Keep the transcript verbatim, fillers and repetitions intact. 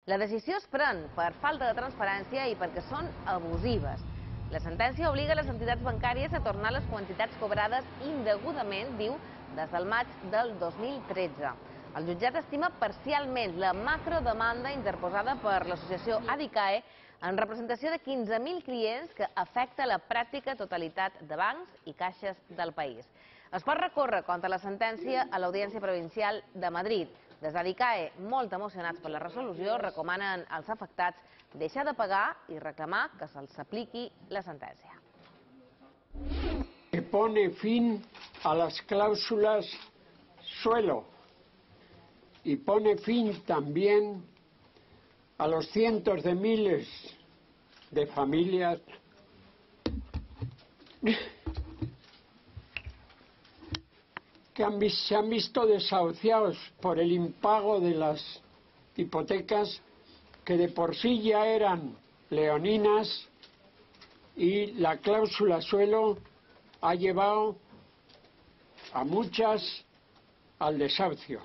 La decisió es pren per falta de transparència i perquè són abusives. La sentència obliga les entitats bancàries a tornar les quantitats cobrades indegudament, diu, des del maig del dos mil tretze. El jutjat estima parcialment la macrodemanda interposada per l'associació Adicae en representació de quinze mil clients que afecta la pràctica totalitat de bancs i caixes del país. Es pot recórrer contra la sentència a l'Audiència Provincial de Madrid. Des d'Adicae, molt emocionats per la resolució, recomanen als afectats deixar de pagar i reclamar que se'ls apliqui la sentència. Que pone fin a las cláusulas suelo y pone fin también a los cientos de miles de familias que han, se han visto desahuciados por el impago de las hipotecas que de por sí ya eran leoninas, y la cláusula suelo ha llevado a muchas al desahucio.